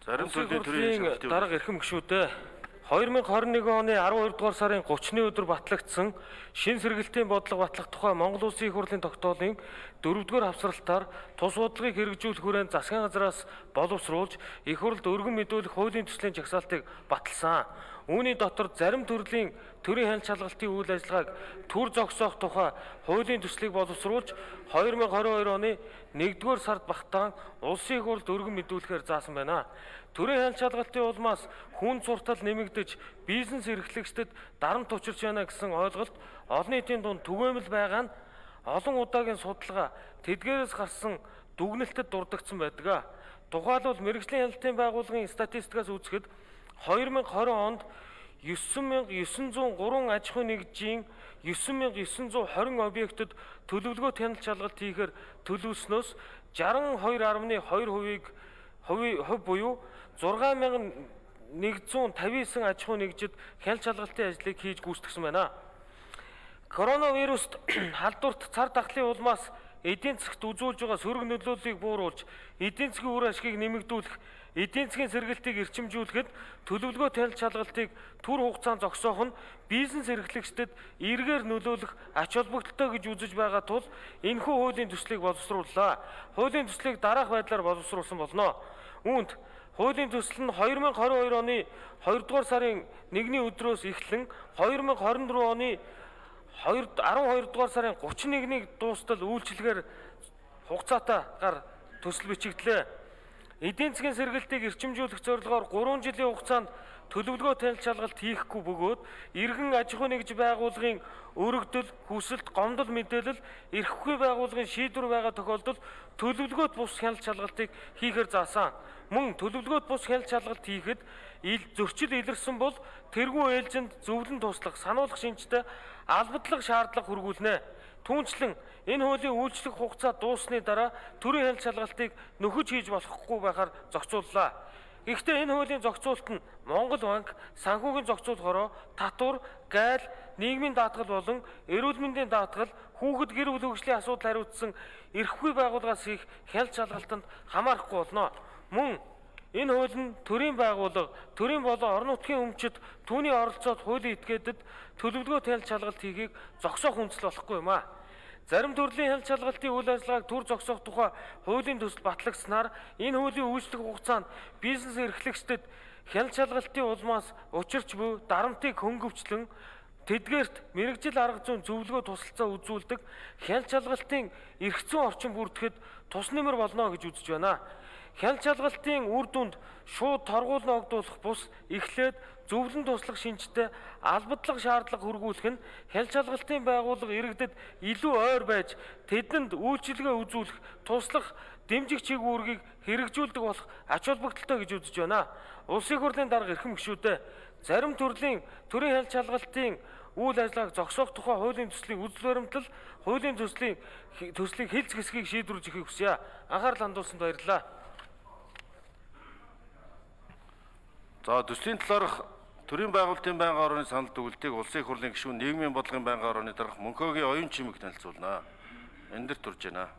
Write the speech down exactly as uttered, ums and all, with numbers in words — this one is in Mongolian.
Зарим төрлийн төрийн дарга эрхэм гишүүдээ two thousand twenty-one оны twelve дугаар сарын thirty-ны өдөр батлагдсан шин сэргэлтийн бодлого батлах тухай Монгол Улсын их хурлын тогтоолын дөрөвдүгээр хавцралтаар тус бодлогыг хэрэгжүүлэх хүрээнд засгийн газраас боловсруулж их хурлд өргөн мэдүүлэх хуулийн төслийн жагсаалтыг баталсан. Үүний дотор зарим төрлийн төрийн хяналт шалгалтын үйл ажиллагааг төр зогсоох тухай хуулийн төслийг боловсруулж two thousand twenty-two оны нэгдүгээр сард багтаан улсын их хурлд өргөн мэдүүлэхээр заасан байна. Төрийн хяналт шалгалтын улмаас хүн суртал нэмэгдэж бизнес эрхлэгчдэд дарамт учирч байна гэсэн ойлголт олон нийтийн дунд түгээмэл байгаа нь олон удаагийн судалгаа тэдгээрээс гарсан дүгнэлтэд дурддагдсан байдаг. Тухайлбал мэргэжлийн хяналтын байгууллагын статистикаас үзэхэд two thousand twenty онд nine thousand nine hundred three аж ахуйн нэгжийн nine thousand nine hundred twenty объектэд төлөвлөгөөт хяналт шалгалт хийхээр төлөвлөснөөс sixty-two point two хувийг хувь буюу six thousand one hundred fifty-nine аж ахуйн нэгжид хяналт шалгалтын ажлыг хийж гүйцэтгэсэн байна. Коронавируст халдварт цар тахлын улмаас эдийн засгт үзүүлж байгаа сөрөг нөлөөллийг бууруулж, эдийн засгийн үр ашгийг нэмэгдүүлэх, эдийн засгийн сэргэлтийг эрчимжүүлэхэд төлөвлөгөөт хяналт шалгалтыг түр хугацаанд зогсоох нь бизнес эрхлэгчдэд эргээр нөлөөлөх ач холбогдолтой гэж үзэж байгаа тул энэхүү хуулийн төслийг боловсрууллаа. Хуулийн төслийг дараах байдлаар боловсруулсан болно. Үүнд хуулийн төсөл нь two thousand twenty-two оны two дугаар сарын first-ний өдрөөс эхлэн two thousand twenty-four оны twelve дугаар сарын thirty-one-ийг дуустал үйлчилгээр хугацаатаагаар төсөл бичигдлээ. Эдийн засгийн сэргэлтийг эрчимжүүлэх зорилгоор three жилийн хугацаанд төлөвлөгөөт хяналт шалгалт хийхгүй бөгөөд иргэн аж ахуйн нэгж байгууллагын өргөдөл, хүсэлт, гомдол мэдээлэл эрхгүй байгууллагын шийдвэр байгаа тохиолдолд төлөвлөгөөт бус хяналт шалгалтыг хийхээр заасан. Мөн төлөвлөгөөт бус хяналт шалгалт хийхэд зөрчил илэрсэн бол тэргүү ээлжинд зөвлөн туслах, сануулгах шинжтэй албадлаг шаардлага хөргүүлнэ. Түүнчлэн энэ хуулийн үйлчлэх хугацаа дууссаны дараа төрийн хяналт шалгалтыг нөхөж хийж болохгүй байхаар зохицууллаа. Гэхдээ энэ хуулийн зохицуулалт нь Монгол банк, санхүүгийн зохицуулахороо татвар, гайл, нийгмийн даатгал болон эрүүл мэндийн даатгал, хүүхэд гэр бүл хөгжлийн асуудал хариуцсан эрхгүй байгууллагаас их хяналт шалгалтанд хамаарахгүй болно. Мөн энэ хууль нь төрийн байгууллага, төрийн болон орон нутгийн өмчөд түүний оролцоод хуулийн этгээдэд төлөвлөгөөт хяналт шалгалт хийхийг зогсоох үндэслэл болохгүй юм а. Зарим төрлийн хяналт шалгалтын үйл ажиллагааг түр зогсоох тухай хуулийн төсөл батлагдсанаар энэ хуулийн үйлчлэх хугацаанд бизнес эрхлэгчдэд хяналт шалгалтын улмаас учирч буй дарамтыг хөнгөвчлөн тэдгээрт мэрэгжил арга зүйн зөвлөгөө тусалцаа үзүүлдэг хяналт шалгалтын эрх зүйн орчин бүрдэхэд тус нэмэр болно гэж үзэж байна. Хяналт шалгалтын үр дүнд шууд торгуул ногдуулах бус эхлээд зөвлөн туслах шинжтэй албадлаг шаардлага хөргүүлэх нь хяналт шалгалтын байгууллага иргэдэд илүү ойр байж тэдэнд үйлчилгээ үзүүлэх, туслах, дэмжих чиглэлийг хэрэгжүүлдэг болох ач холбогдолтой гэж үзэж байна. Улсын их хурлын дарга эрхэм гишүүдээ зарим төрлийн төрийн хяналт шалгалтын үйл ажиллагааг зогсоох тухай хуулийн төслийн үзэл баримтлал, хуулийн төслийн төслийг хэлц хэсгийг шийдвэрлэж өгөхийг хүсье. Анхаарал хандуулсанд баярлалаа. За төслийн талаарх төрийн байгуулалтын байнгын орооны санал дүгнэлтийг улсын их хурлын гишүүн нийгмийн бодлогын байнгын орооны дарга Мөнхөөгийн оюун чимэг танилцуулнаа. Энэ дэр турж байна.